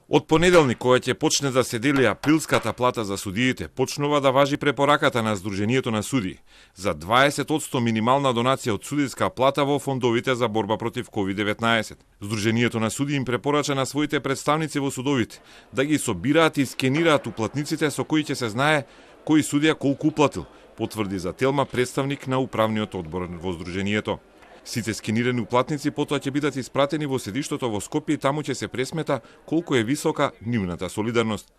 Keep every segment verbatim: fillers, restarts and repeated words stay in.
Од понеделник, кога ќе почне да се дели априлската плата за судиите, почнува да важи препораката на Сдруженијето на судии за дваесет одсто минимална донација од судиска плата во фондовите за борба против ковид деветнаесет. Сдруженијето на судии им препорача на своите представници во судовите да ги собираат и скенираат уплатниците со кои ќе се знае кој судија колку уплатил, потврди за Телма представник на управниот одбор во Сдруженијето. Сите скенирани уплатници потоа ќе бидат испратени во седиштото во Скопје и таму ќе се пресмета колку е висока нивната солидарност.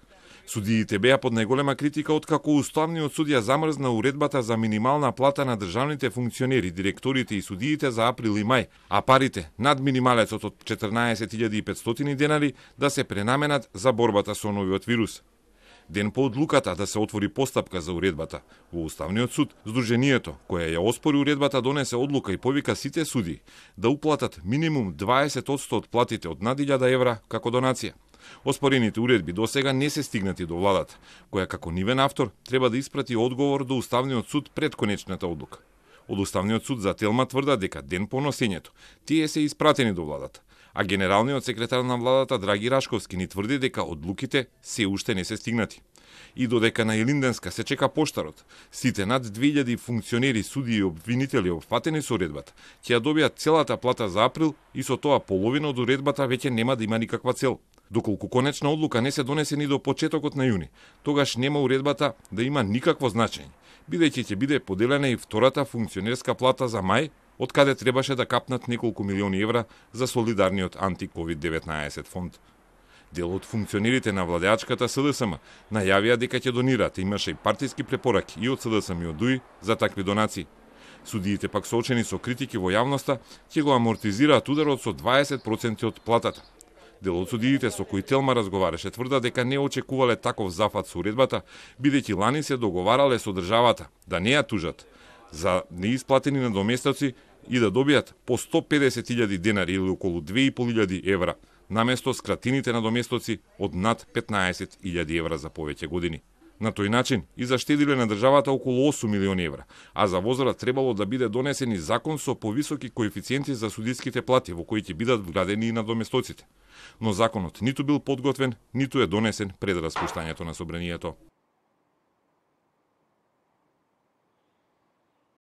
Судиите беа под најголема критика откако уставниот судија замрзна уредбата за минимална плата на државните функционери, директорите и судиите за април и мај, а парите над минималецот од четрнаесет илјади и петстотини денари да се пренаменат за борбата со новиот вирус. Ден по одлуката да се отвори постапка за уредбата, во Уставниот суд, Сдруженијето, која ја оспори уредбата, донесе одлука и повика сите суди да уплатат минимум дваесет одсто од платите од над илјада евра како донација. Оспорените уредби досега не се стигнати до владата, која како нивен автор треба да испрати одговор до Уставниот суд пред конечната одлука. Од Уставниот суд за Телма тврда дека ден по носењето тие се испратени до владата, а генералниот секретар на владата Драги Рашковски ни тврди дека одлуките се уште не се стигнати. И додека на Илинденска се чека поштарот, сите над две илјади функционери, судии и обвинители опфатени со уредбата ќе ја добијат целата плата за април и со тоа половина од уредбата веќе нема да има никаква цел. Доколку конечна одлука не се донесе ни до почетокот на јуни, тогаш нема уредбата да има никакво значење, бидејќи ќе биде поделена и втората функционерска плата за мај, од каде требаше да капнат неколку милиони евра за солидарниот анти-ковид деветнаесет фонд. Дел од функционерите на владеачката СДСМ најавија дека ќе донираат, имаше и партиски препораки и од СДСМ и од ДУИ за такви донации. Судиите пак соочени со критики во јавноста ќе го амортизираат ударот со дваесет проценти од платата. Дел од судиите со кои Телма разговараше тврда дека не очекувале таков зафат со уредбата, бидејќи лани се договарале со државата да не ја тужат за неисплатени надоместоци и да добијат по сто педесет илјади денари или околу две и пол илјади евра, наместо скратините надоместоци од над петнаесет илјади евра за повеќе години. На тој начин и заштедиле на државата околу осум милиони евра, а за возраст требало да биде донесен и закон со повисоки коефициенти за судиските плати, во кои ќе бидат вградени и надоместоците. Но законот ниту бил подготвен, ниту е донесен пред распуштањето на собранието.